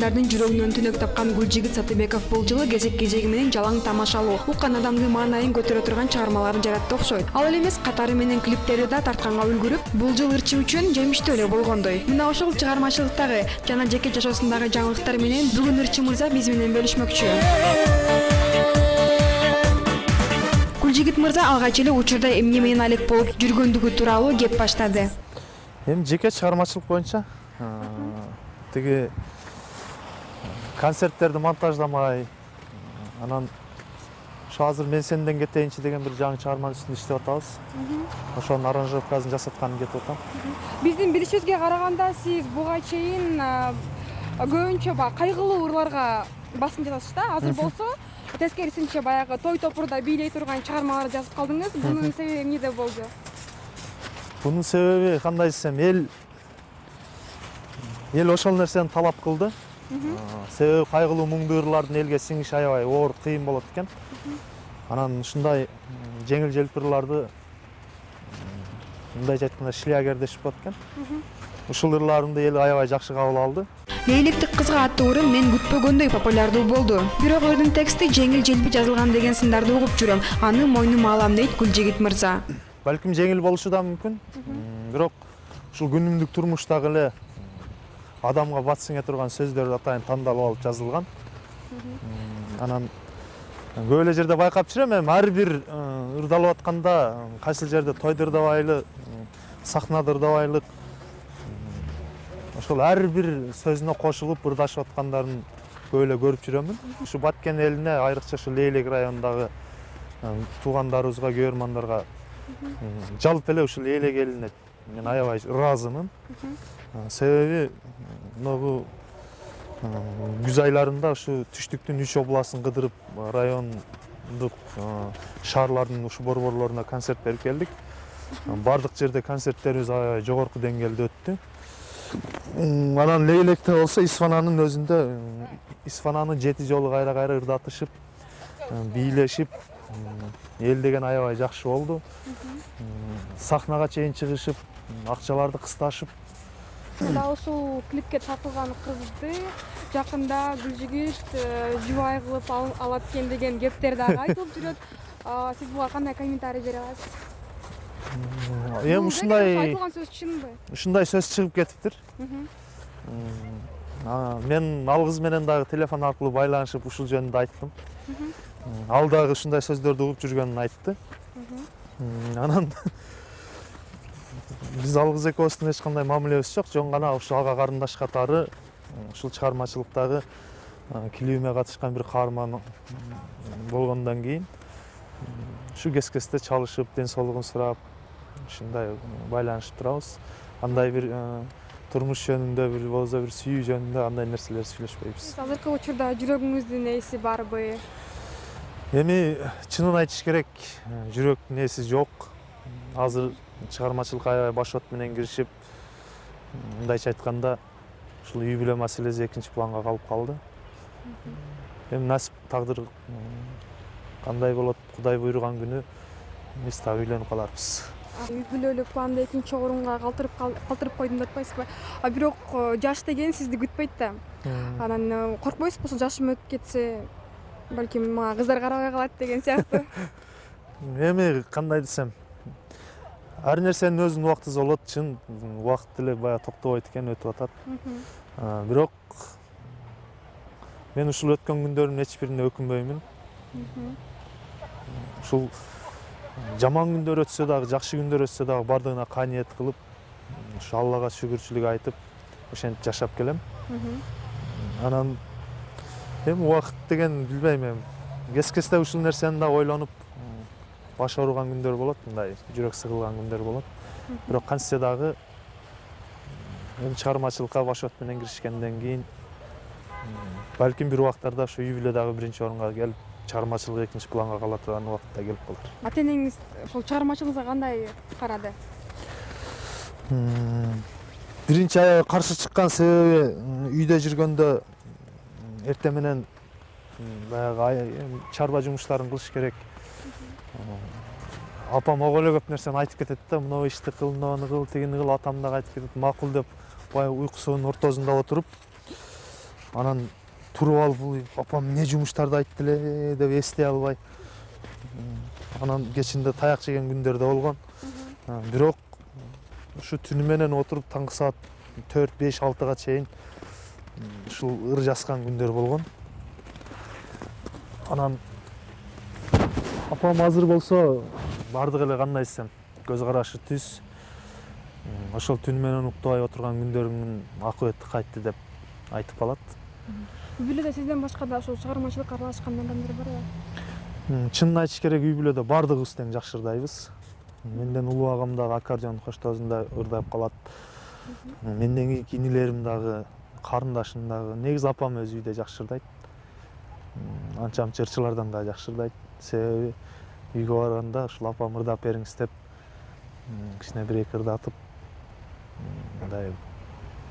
адамдардын жүрөгүнөн түнөк тапкан Гүлжигит Сатыбеков бул жылы кезек-кезеги менен жалаң тамашалуу, уккан адамдын маанайын көтөрө турган чыгармаларын жаратты окшойт. Ал эле эмес, катары менен клиптери да тартканга үлгүрүп, бул жыл ырчы үчүн жемиштүү эле болгондой. Мына ошол чыгармачылыктагы жана жеке жашоосундагы жаңылыктар менен бүгүн ырчы мырза биз менен бөлүшмөкчү. Гүлжигит мырза алгач эле учурда эмне менен алек болуп жүргөндүгү тууралуу кеп баштады. Эми жеке чыгармачылык боюнча тиги концерттерди монтаждамай, анан ошо азыр мен сенден кетейинчи деген бир жаңы чыгарманын үстүндө иштеп атабыз. Ошонун аранжировкасын жасатканын кетип атам. Биздин билишибизге караганда сиз буга чейин көбүнчө кайгылуу ырларга басым жасасыз да. Азыр болсо тескерисинче баягы той топурда бийлей турган чыгармалар жазып калдыңыз. Бунун себеби эмнеде болду? Бунун себеби кандай десем, эл ошол нерсени талап кылды. Себеби кайгылуу муңдуу ырлардын элге сиңиши аябай оор, кыйын болот экен. Анан ушундай жеңил желпи ырларды мындайча айтканда шлягер дешип коет экен. Ушул ырларымды эл аябай жакшы кабыл алды. Лейлектик кызга аттуу ырым мен күтпөгөндөй популярдуу болду. Бирок ырдын тексти жеңил желпи жазылган деген сындарды угуп жүрөм. Аны мойнума алам дейт Гүлжигит мырза. Балким жеңил болушу да мүмкүн. Бирок ушул күнүмдүк турмуштагы эле адамга бат сиңе турган сөздөр атайын тандалып алып жазылган. Анан көп эле жерде байкап жүрөм, эми ар бир ырдалып атканда кайсыл жерде тойду ырдабайлы, сахнада ырдабайлык ошол ар бир сөзүнө кошулуп ырдашып аткандарын көп эле көрүп жүрөмүн. Ушу Баткен элине, айрыкча ушу Лейлек районундагы туугандарыбызга, көрөрмандарга, жалпы эле ушул Лейлек элине мен аябай ыраазымын. Себеби могу күз айларында ушу түштүктүн 3 областын кыдырып райондук шаарлардын ушу борборлоруна концерт берип келдик. Бардык жерде концерттерибиз аябай жогорку деңгээлде өттү. Анан Лейлекте болсо Исфананын өзүндө Исфананы 7 жолу кайра-кайра ырдатышып, бийлешип, эл деген аябай жакшы болду. Сахнага чейин чыгышып, акчаларды кысташып. Да ушул клипке тартылган кызды жакында Гүлжигит жубай кылып алат экен деген кептер дагы айтылып жүрөт. Сиз буга кандай комментарий бере аласыз? Эми айтылган сөз чынбы? Ушундай сөз чыгып кетиптир. Мен ал кыз менен дагы телефон аркылуу байланышып ушул жөнүндө айттым. Ал дагы ушундай сөздөрдү угуп жүргөнүн айтты. Анан биз ал кыз экөөбүздүн эч кандай мамилебиз жок, жөн гана ушу ага карындаш катары ушул чыгармачылыктагы клибиме катышкан бир каарман болгондон кийин ушу кес-кесте чалышып, ден соолугун сурап, ушундай байланышып турабыз. Андай бир турмуш жөнүндө, бир болсо бир сүйүү жөнүндө андай нерселер сүйлөшпөйбүз. Азыркы учурда жүрөгүңүздүн ээси барбы? Эми чынын айтыш керек, жүрөктүн ээси жок. Азыр чыгармачылыкка аябай башот менен киришип, мындайча айтканда, ушул үй бүлө маселеси экинчи планга калып калды. Эми насип, тагдыр кандай болот, Кудай буйруган күнү биз так үйлөнүп каларбыз. Үй бүлөлүк планды экинчи орунга калтырып койдум деп атпайсызбы? Бирок жаш деген сизди күтпөйт да. Анан коркпойсузбу, ошол жашым өтүп кетсе, балким мага кыздар карабай калат деген сыяктуу? Эми кандай десем, ар нерсенин өзүнүн убактысы болот, чын убакыт деле баягы токтобойт экен, өтүп атат. Бирок мен ушул өткөн күндөрүмдүн эч бирине өкүнбөймүн. Ушул жаман күндөр өтсө дагы, жакшы күндөр өтсө дагы бардыгына кааниет кылып, ушу Аллага шүгүрчүлүк айтып, ошентип жашап келем. Анан эми убакыт деген билбейм, эми кес-кесте ушул нерсени да ойлонуп баш ооруган күндөр болот, мындай жүрөк сыгылган күндөр болот. Бирок кантсе дагы эми чыгармачылыкка башот менен киришкенден кийин балким бир убактарда ушу үй бүлө дагы биринчи орунга келип, чыгармачылык экинчи планга кала турган убакытта келип калар. Ата-энеңиз ошол чыгармачылыгыңызга кандай карады? Биринчи аябай каршы чыккан себеби үйдө жүргөндө эртең менен баягы чарба жумуштарын кылыш керек. Апам ого эле көп нерсени айтып кетет да, мына ишти кыл, мынаны кыл, тигини кыл, атам дагы айтып кетет, макул деп баягы уйкусунун ортосунда отуруп, Анан туруп алып апам эмне жумуштарды айтты эле деп эстей албай анан кечинде таяк жеген күндөр да болгон. Бирок ушу түнү менен отуруп таңкы саат 4-5-6-га чейин ушул ыр жазган күндөр болгон. Анан апам азыр болсо бардык эле кандай десем көз карашы түз. Ошол түнү менен уктабай отурган күндөрүмдүн акыбети кайтты деп айтып калат. Үй бүлөдө сизден башка да ошол чыгармачылыкка аралашкан адамдар барбы? Чынын айтыш керек, үй бүлөдө бардыгыбыз тең жакшы ырдайбыз. Менден улуу агам дагы аккордеон коштоосунда ырдап калат. Менден кийинки инилерим дагы, карындашым дагы. Негизи апам өзү үйдө жакшы ырдайт. Анча-мынча ырчылардан да жакшы ырдайт. Себеби үйгө барганда ушул апам ырдап бериңиз деп кичине бир-эки ырдатып мындай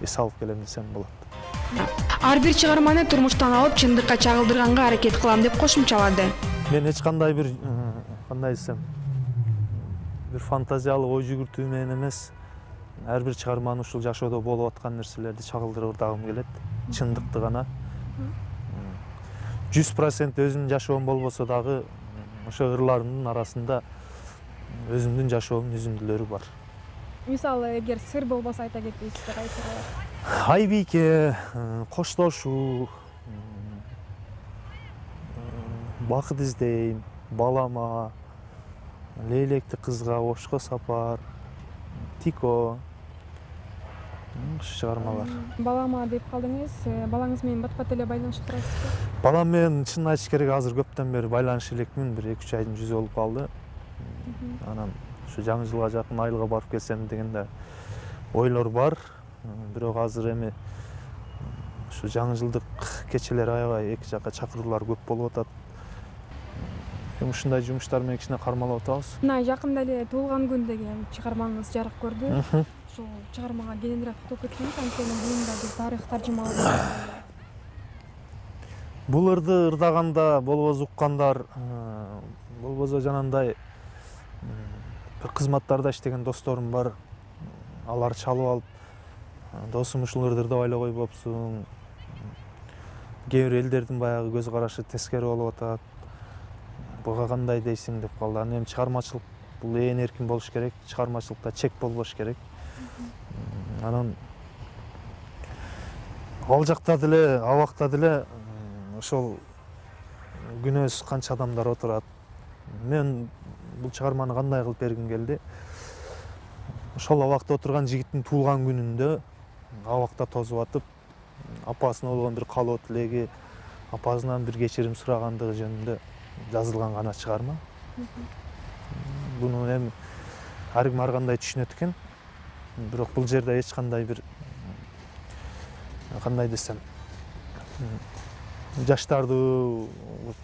эс алып келем десем болот. Ар бир чыгарманы турмуштан алып чындыкка чагылдырганга аракет кылам деп кошумчалады. Мен эч кандай бир кандай десем бир фантазиялык ой жүгүртүү менен эмес, ар бир чыгарманы ушул жашоодо болуп аткан нерселерди чагылдырып ырдагым келет. Чындыкты гана. 100% өзүмдүн жашоом болбосо дагы ошо ырларымдын арасында өзүмдүн жашоомдун үзүндүлөрү бар. Мисалы, эгер сыр болбосо айта кетпейсизби, кайсы болот? Айбийке, коштошуу, бакыт издейм, балама, лейлекти кызга, ошко сапар, Тико, ушул чыгармалар. Балама деп калдыңыз, балаңыз менен бат-бат эле байланышып турасызбы? Балам менен чын айтыш керек азыр көптөн бери байланышып элекмин, бир 2-3 айдын жүзү болуп калды. Анан ушу жаңы жылга жакын айылга барып келсем деген да ойлор бар. Бирок азыр эми ушу жаңы жылдык кечелер аябай эки жакка чакыруулар көп болуп атат. Эми ушундай жумуштар менен кичине кармалап атабыз. Мына жакында эле туулган күн деген чыгармаңыз жарык көрдү. Ошол чыгармага кененирээк токтолуп кетсеңиз, анткени бул биз тарых таржымалоо. Бул ырды ырдаганда болбосо уккандар, болбосо жанагындай бир кызматтарда иштеген досторум бар. Алар чалып алып, досум ушул ырды ырдап эле койбопсуң. Кээ бир элдердин баягы көз карашы тескери болуп атат. Буга кандай дейсиң деп калды. Анан эми чыгармачылык бул ээн эркин болуш керек, чыгармачылыкта чек болбош керек. Анан ал жакта деле, абакта деле ошол күнөөсүз канча адамдар отурат. Мен бул чыгарманы кандай кылып бергим келди? Ошол абакта отурган жигиттин туулган күнүндө абакта тозуп атып, апасына болгон бир каалоо тилеги, апасынан бир кечирим сурагандыгы жөнүндө жазылган гана чыгарма. Буну эми ар ким ар кандай түшүнөт экен. Бирок бул жерде эч кандай бир кандай десем жаштарды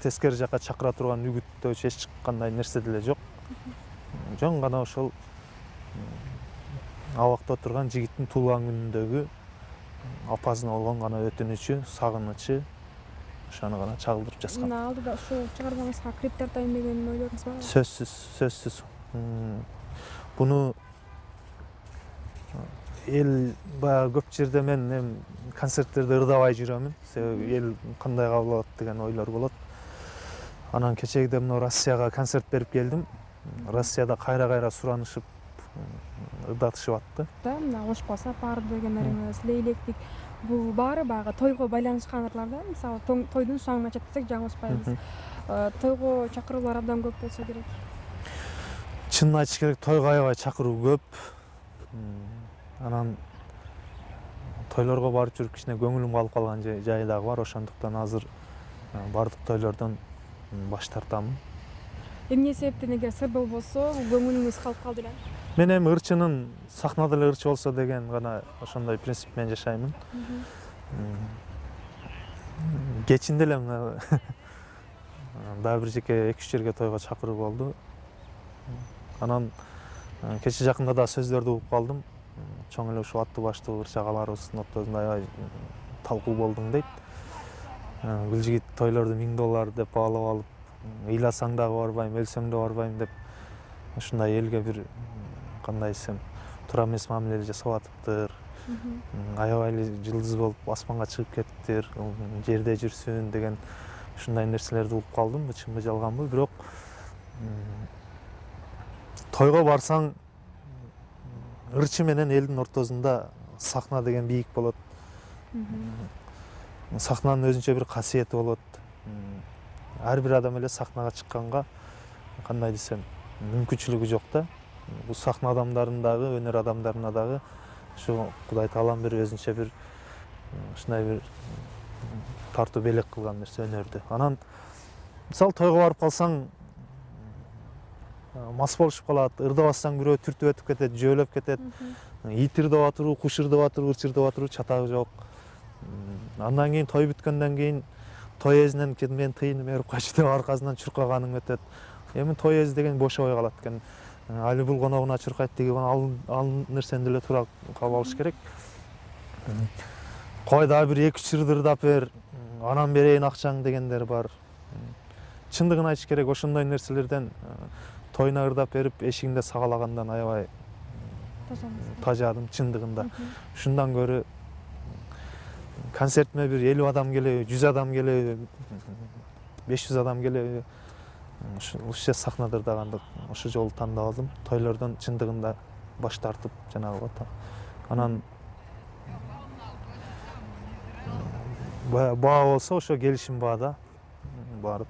тескери жакка чакыра турган үгүттөөчү эч кандай нерсе деле жок. Жөн гана ошол абакта отурган жигиттин туулган күнүндөгү апасына болгон гана өтүнүчү, сагынычы ошону гана чагылдырып жазган. Мына алдыда ушул чыгармаңызга клип тартайын деген ойлоруңуз барбы? Сөзсүз. Буну эл баягы көп жерде мен эми концерттерде ырдабай жүрөмүн. Себеби эл кандай кабыл алат деген ойлор болот. Анан кечээде мына Россияга концерт берип келдим. Россияда кайра суранышып ырдатышып атты. Мына Ошко сапар деген ырыңыз, Лейлектик, бул баары баягы тойго байланышкан ырлар да. Мисалы тойдун шаңын ачат десек жаңылышпайбыз. Тойго чакыруулар абдан көп болсо керек. Чынын айтыш керек, тойго аябай чакыруу көп. Анан тойлорго барып жүрүп кичине көңүлүм калып калган жайы дагы бар. Ошондуктан азыр бардык тойлордон баш тартамын. Эмне себептен эгер сыр болбосо көңүлүңүз калып калды эле? Мен эми ырчынын сахнада эле ырчы болсо деген гана ошондой принцип менен жашаймын. Кечинде эле дагы бир жеке 2-3 жерге тойго чакыруу болду. Анан кече жакында да сөздөрдү угуп калдым. Чоң эле ушул аттуу баштуу ырчагаларыбыздын ортосунда аябай талкуу болдуң дейт. Бул жигит тойлорду $1000 деп баалап алып, ыйласаң дагы барбайм, өлсөң да барбайм деп ушундай элге бир кандай десем туура эмес мамиле жасап атыптыр. аябай эле жылдыз болуп аспанга чыгып кеттиптир, жерде жүрсүн деген ушундай нерселерди угуп калдым. Чынбы жалганбы, бирок тойго барсаң ырчы менен элдин ортосунда сахна деген бийик болот. Сахнанын өзүнчө бир касиети болот. Ар бир адам эле сахнага чыкканга кандай десем мүмкүнчүлүгү жок да. Бул сахна адамдарынын дагы, өнөр адамдарына дагы ушу Кудай Таалам бир өзүнчө бир ушундай бир тартуу белек кылган нерсе өнөрдү. Анан мисалы тойго барып калсаң мас болушуп калат, ырдабасаң бирөө түртүп өтүп кетет, жөөлөп кетет. Ит ырдап атыруу, куш ырдап атыруу, ырчырдап атыруу чатагы жок. Андан кийин той бүткөндөн кийин той эзинен мен тыйынып берип кайчы деп аркасынан чуркаганың өтөт. Эми той эзи деген бошобой калат экен. Али бул коногуна чуркайт деген ал нерсени деле туура кабыл алыш керек. Кой дагы бир 2-3 ырды ырдап бер, анан берейин акчаң дегендер бар. Чындыгын айтыш керек, ошондой нерселерден тойуна ырдап берип эшигинде сагалагандан аябай тажадым чындыгында. Ушундан көрө концертиме бир 50 адам келеби, 100 адам келеби, 500 адам келеби, ушул сахнада ырдаганды ошол жолу тандап алдым. Тойлордон чындыгында баш тартып жанагы анан баа болсо ошо келишим баада барып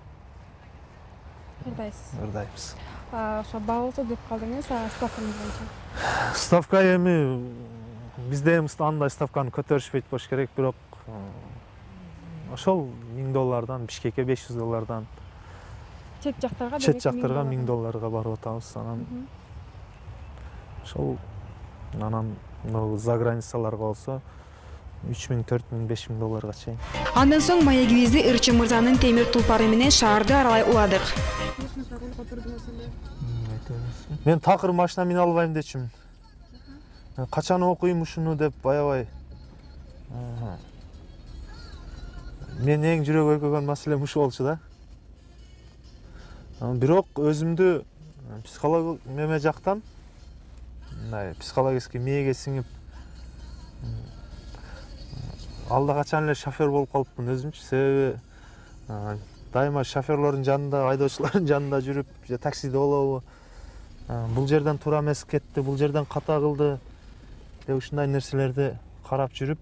ырдайбыз. Ошо баа болсо деп калдыңыз, ставкаңыз боюнча. Ставка эми бизде андай ставканы көтөрүшпөйт болуш керек, бирок ошол $1000, Бишкекке $500. Чет жактарга $1000 барып атабыз. Анан ошол анан за границаларга болсо $3000, $4000, $5000 чейин. Андан соң маегибизди Ырчы мырзанын темир тулпары менен шаарды аралай уладык. Мен такыр машина мине албайм дечимин. Качан окуйм ушуну деп аябай. Мен эң жүрөк өйкөгөн маселем ушу болчу да. Бирок өзүмдү психолог неме жактан мындай психологический мээге сиңип алда качан эле шофер болуп калыпмын өзүмчү. Себеби дайыма шоферлордун жанында, айдоочулардын жанында жүрүп, же таксиде болобу, бул жерден туура эмес кетти, бул жерден ката кылды деп ушундай нерселерди карап жүрүп,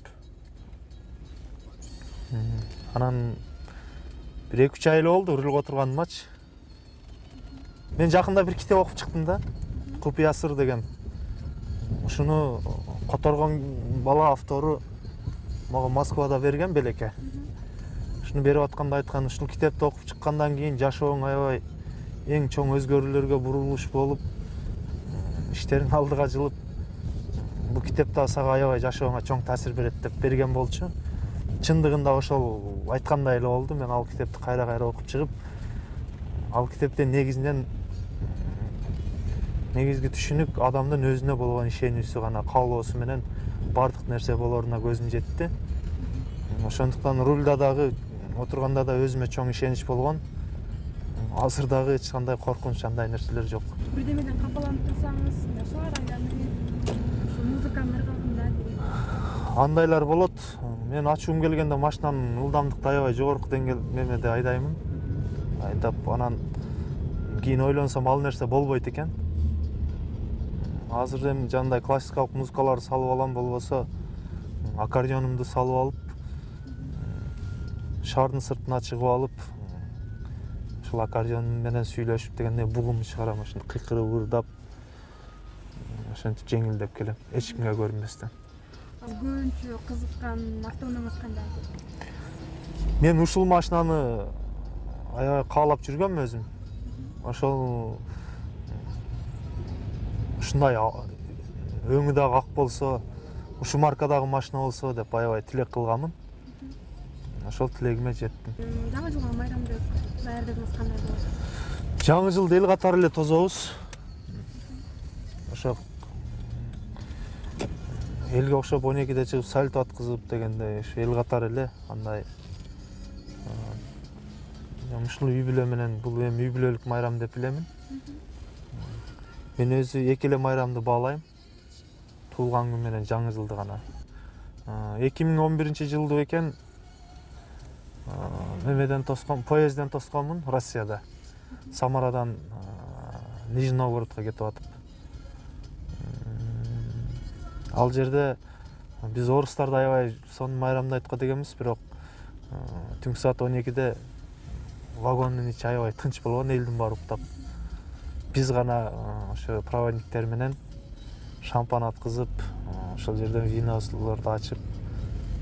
анан бир 2-3 ай эле болду рулга отурганымачы. Мен жакында бир китеп окуп чыктым да, Купуя сыр деген. Ушуну которгон бала автору мага Москвада берген белекке. Ушуну берип атканда айткан, ушул китепти окуп чыккандан кийин жашооң аябай эң чоң өзгөрүүлөргө бурулуш болуп, иштериң алдыга жылып, бул китеп да сага аябай жашооңа чоң таасир берет деп берген болчу. Чындыгында ошол айткандай эле болду. Мен ал китепти кайра окуп чыгып, ал китептен негизги түшүнүк адамдын өзүнө болгон ишенүүсү гана, каалоосу менен бардык нерсе болоруна көзүм жетти. Ошондуктан рульда дагы отурганда да өзүмө чоң ишенич болгон. Азыр дагы эч кандай коркунуч андай нерселер жок. Бирдемеден капаланып турсаңыз, музыканын ыргагында андайлар болот. Мен ачуум келгенде машинанын ылдамдыкты аябай жогорку деңгээл немеде айдаймын. Айдап анан кийин ойлонсом ал нерсе болбойт экен. Азыр эми жандай классикалык музыкаларды салып алам, болбосо аккордеонумду салып алып, шаардын сыртына чыгып алып, ушул аккордеон менен сүйлөшүп дегенде бугумду чыгарам, ошондо кыйкырып ырдап, ошентип жеңилдеп келем, эч кимге көрүнбөстөн. Көбүнчө кызыккан автоунааңыз кандай? Мен ушул машинаны аябай каалап жүргөмүн өзүм. Ошол ушундай өңү дагы ак болсо, ушу маркадагы машина болсо деп аябай тилек кылганмын. Ошол тилегиме жеттим. Жаңы жылга майрамды даярдыгыңыз кандай болот? Жаңы жылды эл катары эле тозобуз. Ошо элге окшоп 12-де чыгып салют аткызып дегендей, ушу эл катары эле андай ушул үй бүлө менен, бул эми үй бүлөлүк майрам деп билемин. Мен өзү эки эле майрамды баалайм. Туулган күн менен жаңы жылды гана. 2011 экен немеден тоскон, поездден тосконмун Россияда. Самарадан Нижний Новгородко кетип атып. Ал жерде биз орустарды аябай сонун майрамдайт го дегенбиз, бирок түнкү саат 12-де вагондун ичи аябай тынч болгон, элдин баары уктап. Биз гана ошо проводниктер менен шампан аткызып, ошол жерден винолорду ачып,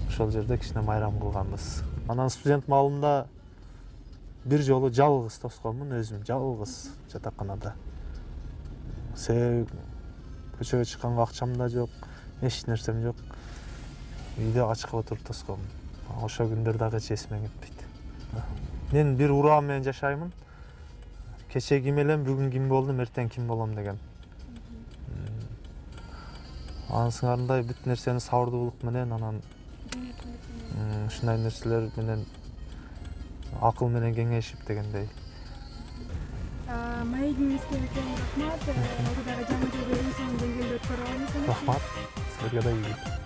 ошол жерде кичине майрам кылганбыз. Анан студент маалымда бир жолу жалгыз тосконмун, өзүм жалгыз жатаканада. Себеби көчөгө чыкканга акчам да жок, эч нерсем жок. Үйдө ачык отуруп тосконмун. Ошол күндөр дагы эч эсиме кетпейт. Мен бир ураам менен жашаймын. Кече ким элем, бүгүн ким болдум, эртең ким болом деген. Анын сыңарындай бүт нерсени сабырдуулук менен, анан ушундай нерселер менен акыл менен кеңешип дегендей. Маегиңизге үлкен рахмат. Дагы жаңы жылды эң сонун деңгээлде өткөрө алыңыз. Рахмат. Силерге да ийгилик.